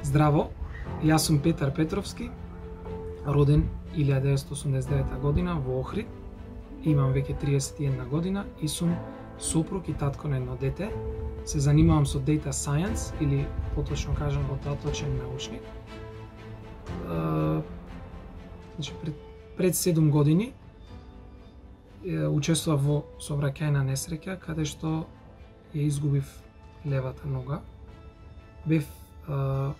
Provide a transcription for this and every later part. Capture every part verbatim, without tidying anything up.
Здраво, јас сум Петар Петровски, роден илјада деветстотини осумдесет и девета година во Охрид. Имам веќе триесет и една година и сум сопруг и татко на едно дете. Се занимавам со data science или поточно кажам поточен научник. Значи пред, пред седум години учествував во сообраќајна несреќа каде што ја изгубив левата нога. Бев а,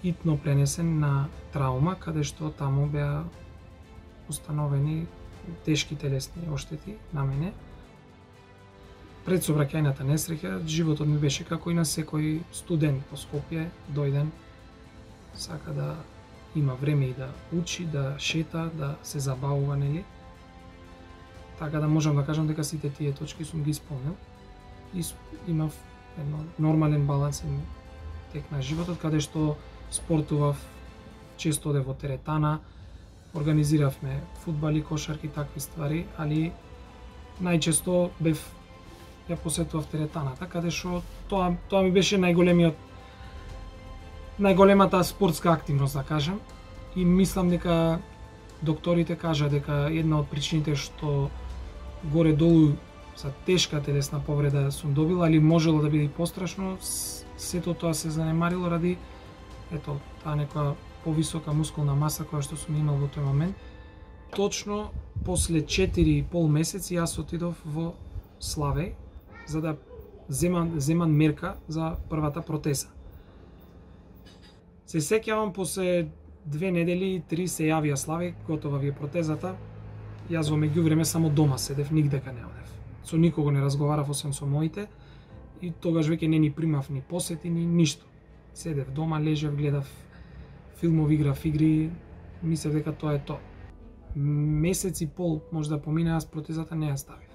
итно пренесен на траума, каде што таму беа установени тешки телесни оштети на мене. Пред сообраќајната несреќа, животот ми беше како и на секој студент по Скопје, дојден, сака да има време и да учи, да шета, да се забавува, нели? Така да можам да кажам дека сите тие точки сум ги исполнил. И имав едно нормален балансен тек на животот, каде што спортував, често одев во теретана, организиравме фудбали, кошарки, такви ствари, али најчесто бев ја посетував теретаната, каде што тоа тоа ми беше најголемиот најголемата спортска активност, да кажам. И мислам дека докторите кажа дека една од причините што горе долу за тешка телесна повреда сум добила, али можело да биде и пострашно, сето тоа се занемарило ради ето таа некоја повисока мускулна маса која што сум имал во тој момент. Точно после четири и пол месеци јас отидов во Славеј за да земам земам мерка за првата протеза. Се сеќавам после две недели, три се јавија Славеј, готова ви е протезата. Јас во меѓувреме само дома седев, нигдека не одев. Со никого не разговарав освен со моите и тогаш веќе не ни примав ни посети ни ништо. Седев дома, лежев, гледав филмови, играв игри, мислев дека тоа е тоа. Месец и пол може да помине, јас протезата не ја ставив.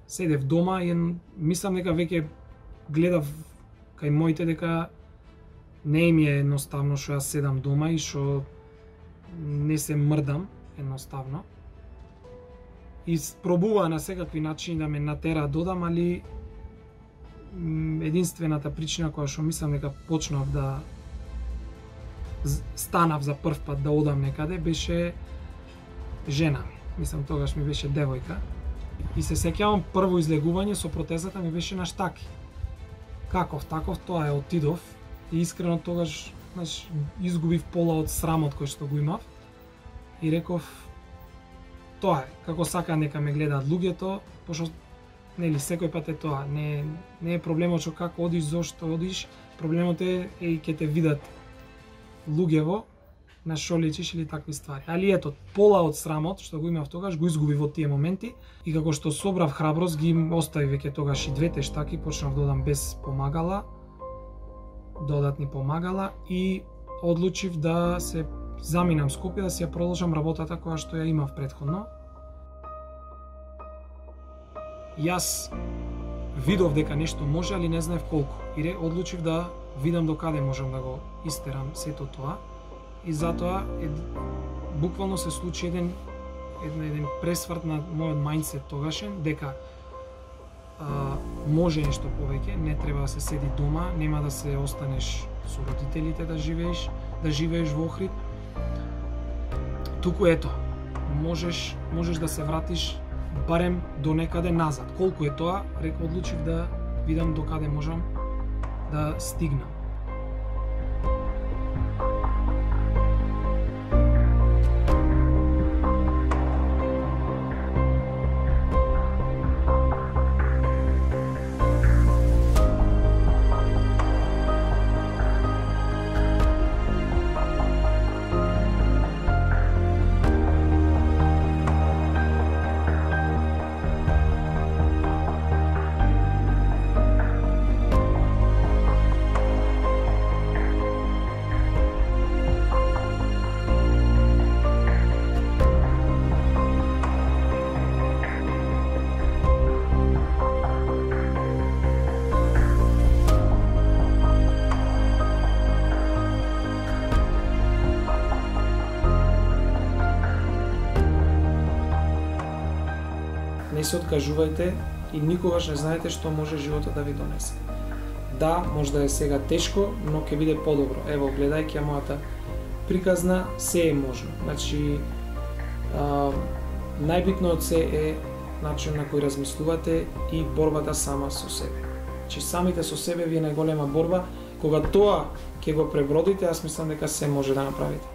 Седев дома и мислам дека веќе гледав кај моите дека не ми е едноставно што јас седам дома и што не се мрдам едноставно. И пробува на секакви начини да ме натера додам, али единствената причина која што мислам дека почнав да станав за прв пат да одам некаде беше жена ми. Мислам тогаш ми беше девојка. И се сеќавам прво излегување со протезата ми беше на штаки. Каков таков тоа е, отидов и искрено тогаш, знаеш, изгубив пола од срамот кој што го имав и реков тоа е, како сака нека ме гледаат луѓето, пошто нели секој пат е тоа, не не е проблемот што како одиш, зошто одиш, проблемот е и ќе те видат луѓево на што личиш или такви ствари. Али ето, пола од срамот што го имав тогаш го изгубив во тие моменти и како што собрав храброст ги оставив веќе тогаш и двете штаки, почнав да одам без помагала, додатни помагала и одлучив да се заминам Скопје, да си ја продолжам работата која што ја имав претходно. Јас видов дека нешто може, али не знаев колку. И одлучив да видам до каде можам да го истерам сето тоа. И затоа е, буквално се случи еден еден, еден пресврт на мојот мајндсет тогашен дека а, може нешто повеќе, не треба да се седи дома, нема да се останеш со родителите да живееш, да живееш во Охрид. Туку ето, можеш можеш да се вратиш барем до некаде назад. Колку е тоа, рек одлучив да видам до каде можам да стигнам. Не се откажувајте и никогаш не знаете што може животот да ви донесе. да, може да е сега тешко, но ќе биде подобро. Ево, гледајќи ја мојата приказна, се е можно. Значи, а, најбитно од се е начин на кој размислувате и борбата сама со себе. Значи, самите со себе ви е најголема борба. Кога тоа ќе го пребродите, јас мислам дека се може да направите.